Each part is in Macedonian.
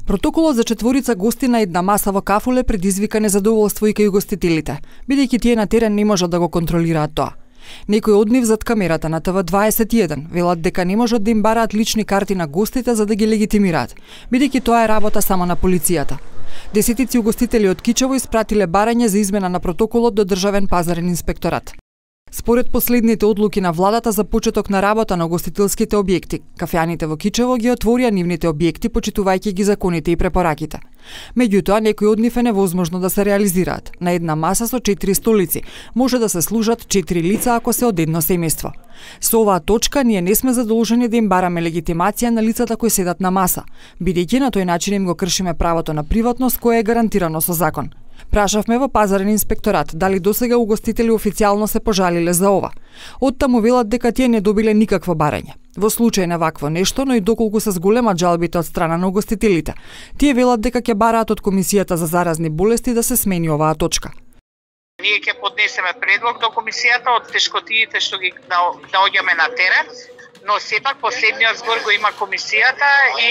Протоколот за четворица гости на една маса во Кафуле предизвика незадоволство и кај угостителите, бидејќи тие на терен не можат да го контролираат тоа. Некои од нив зад камерата на ТВ21 велат дека не можат да им бараат лични карти на гостите за да ги легитимираат, бидејќи тоа е работа само на полицијата. Десетици угостители од Кичево испратиле барање за измена на протоколот до Државен пазарен инспекторат. Според последните одлуки на владата за почеток на работа на угостителските објекти, кафеаните во Кичево ги отворија нивните објекти почитувајќи ги законите и препораките. Меѓутоа, некои од нив е невозможно да се реализираат. На една маса со 4 столици може да се служат 4 лица ако се од едно семејство. Со оваа точка ние не сме задолжени да им бараме легитимација на лицата кои седат на маса, бидејќи на тој начин им го кршиме правото на приватност кое е гарантирано со закон. Прашавме во пазарен инспекторат дали досега угостители официјално се пожалиле за ова. Оттаму велат дека тие не добиле никакво барање. Во случај на вакво нешто, но и доколку се зголемат жалбите од страна на угостителите, тие велат дека ќе бараат од Комисијата за заразни болести да се смени оваа точка. Ние ќе поднесеме предлог до комисијата од тешкотиите што ги наоѓаме на терен, но сепак последниот збор го има комисијата и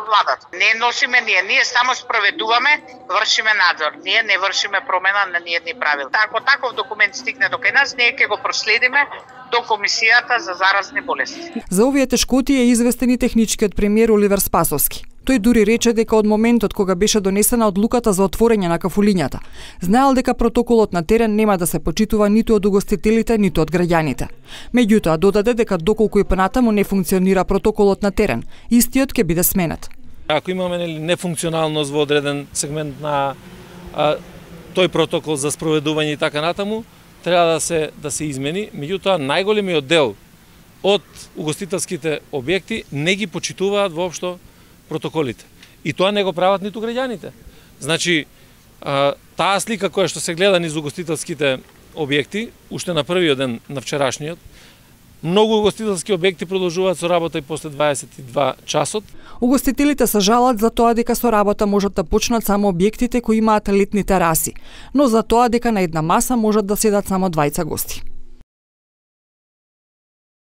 владата. Не носиме ние само спроведуваме, вршиме надзор. Ние не вршиме промена на ниедни правила. Ако таков документ стигне до кај нас, ние ќе го проследиме до Комисијата за заразни болести. За овие тешкоти е известен и техничкиот премиер Оливер Спасовски. Тој дури рече дека од моментот кога беше донесена одлуката за отворање на кафулињата, знаел дека протоколот на терен нема да се почитува ниту од угостителите, ниту од граѓаните. Меѓутоа додаде дека доколку и понатаму не функционира протоколот на терен, истиот ќе биде сменет. Ако имаме нефункционалност во одреден сегмент на тој протокол за спроведување и така натаму, треба да се измени. Меѓутоа најголемиот дел од угостителските објекти не ги почитуваат воопшто протоколите. И тоа не го прават ниту граѓаните. Значи, таа слика која што се гледа низ угостителските објекти, уште на првиот ден на вчерашниот, многу угостителски објекти продолжуваат со работа и после 22 часот. Угостителите се жалат за тоа дека со работа можат да почнат само објектите кои имаат летни тераси, но за тоа дека на една маса можат да седат само 20 гости.